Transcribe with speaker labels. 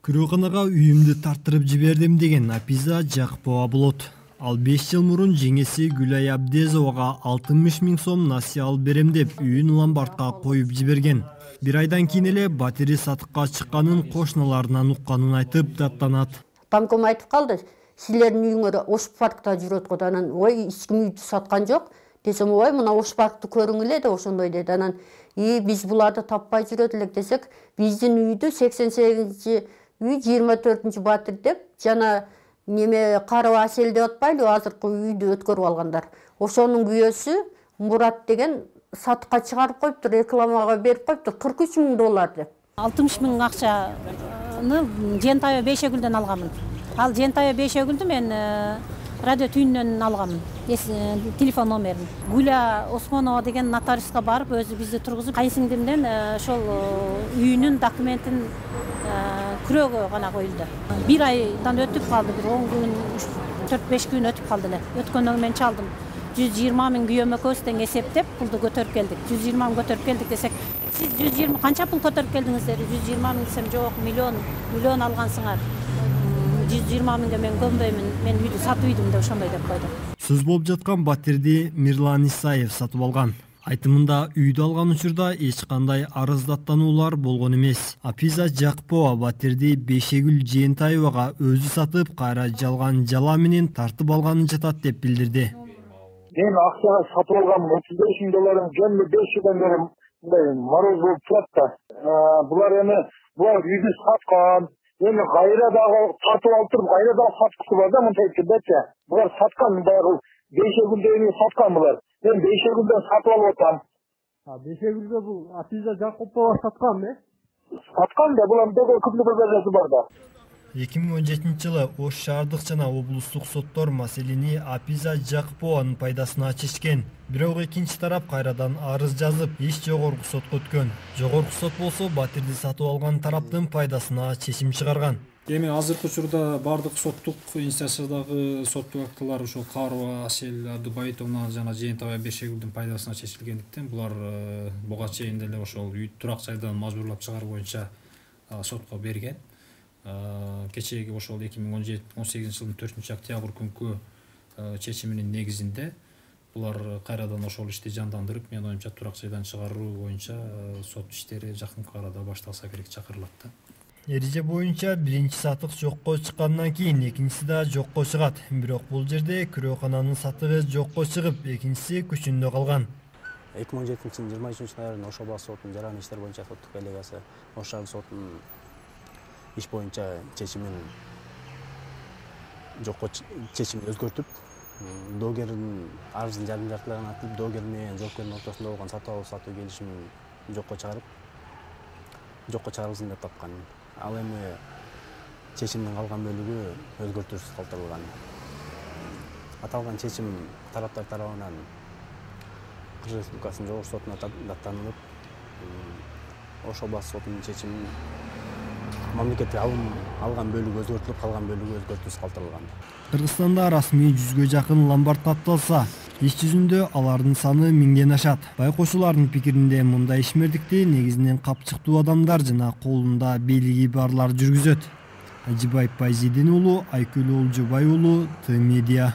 Speaker 1: Күрөканага үйүмдү тартырып жибердим деген Апиза Жакпова болот. Ал 5 жыл мурун жеңеси Гүлай Абдезовага 60 000 сом насыя алып берем деп үйүн ломбардка коюп жиберген. Бир айдан кийин эле батири сатыкка чыкканын кошуналарынан укканын айтып даттанат.
Speaker 2: Тамком айтып калды, силердин үйүңөр Ош паркта жүрөт го, анан ой эч ким үйдү саткан жок. Десем, ой мына Ош паркты көрүң эле деп ошондой деди. Анан биз буларды таппай жүрөт элек десек, биздин үйдү 88 үй 24 батир деп жана неме Карып Аселди атпайлы азыркы үйдү өткөрүп алгандар. Ошонун күйөөсү Мурат деген сатыкка чыгарып коюптур, рекламага берип коюптур $43 000 деп.
Speaker 3: 60 000 акчаны Жентайы Бейшегүлдөн алганмын. Ал Жентайы Бейшегүлдү мен радио түйүнөн алганмын. Телефон номерин. Гүля Осмонова деген нотариуска барып, өзү бизди тургузуп, кайсиңдимден ошол үйүнүн документин күрөөгө гана коюлду. Бир айдан өтүп калды, бир 10 күн, 4-5 күн өтүп калды эле. Өткөндөн мен чалдым. 120 000 күйөөмө көстен эсептеп пулду көтөрүп келдик. 120 000 көтөрүп келдик десек, сиз 120 канча пул көтөрүп келдиңиз деди. 120 000 десем, жок, миллион алгансыңар. 120 000ге мен көнбөймүн, мен үйдү сатып үйдүм деп ошондой деп койду.
Speaker 1: Сөз болуп жаткан батирди Мирлан Исаев сатып алган. Айтымында үйдү алган учурда эч кандай арыздаттануулар болгон эмес. Апиза Жакпова батирди Бейшегүл Жентаевага өзү сатып, кайра жалган жала менен тартып алганын жатат деп билдирди.
Speaker 4: Мен акчага сатып алгам $35 000 жөнүндө 5 жылдан бери мындай мороз болуп турат да. Булар үйдү саткан. Эми кайра дагы тартып алып туруп, кайра дагы саткысы бар да мынтайчы. Булар саткан, баягы Бейшегүлдө саткан булар. Мен Бейшегүлдөн сатып алып атам.
Speaker 5: Бейшегүлдө бул Апиза Жакпова саткан,
Speaker 4: Саткан да, булар көпүлүк базарчысы бар да.
Speaker 1: 2017-жылы Ош шаардык жана облустук соттор маселени Апиза Жакпованын пайдасына чечкен. Бирок экинчи тарап кайрадан арыз жазып, иш жогорку сотко өткөн. Жогорку сот болсо батирди сатып алган тараптын пайдасына чечим чыгарган.
Speaker 6: Эми азыркы учурда бардык соттук инстанциядагы соттук актылар ошол Карып Асел Абдубайтовна жана Жентайы Бейшегүлдүн пайдасына чечилгендиктен булар буга чейин деле ошол үй турак жайдан мажбурлап чыгаруу боюнча сотко берген. Кечеги ошол 2018 жылдын 4-октябрь күнкү чечиминин негизинде булар кайрадан ошол ишти жандандырып, мен оюмча турак жайдан чыгаруу боюнча сот иштери жакынкы арада башталса керек чакырылат да.
Speaker 1: Эреже боюнча биринчи сатык жокко чыккандан кийин экинчиси да жокко чыгат. Бирок бул жерде күрөкананын сатыгы жокко чыгып, экинчиси күчүндө калган.
Speaker 7: 2017 жылдын 23 ноябрында Ош областык сотунун жаран иштер боюнча соттук коллегиясы Ош шаардык сотунун иш боюнча чечимин өзгөртүп, доогердин арызын жарым жартылаган атып, доогер менен жоопкердин ортосунда болгон сатып алуу сатуу келишимин жокко чыгарылсын деп тапкан. Ал эми чечимдин калган бөлүгү өзгөртүүсүз калтырылган. Аталган чечим тараптар тарабынан Кыргыз Республикасынын жогорку сотуна даттанылып, Ош областык сотунун чечимин мамлекетке алган бөлүгү өзгөртүлүп, калган бөлүгү өзгөртүүсүз калтырылган.
Speaker 1: Кыргызстанда расмий 100гө жакын ломбард катталса, иш жүзүндө алардын саны 1000ден ашат. Байкоочулардын пикиринде мындай ишмердикти негизинен капчыктуу адамдар жана колунда бийлиги барлар жүргүзөт. Ажибай Пайзидин уулу, Айкөл Олжобай уулу, Т-Медиа.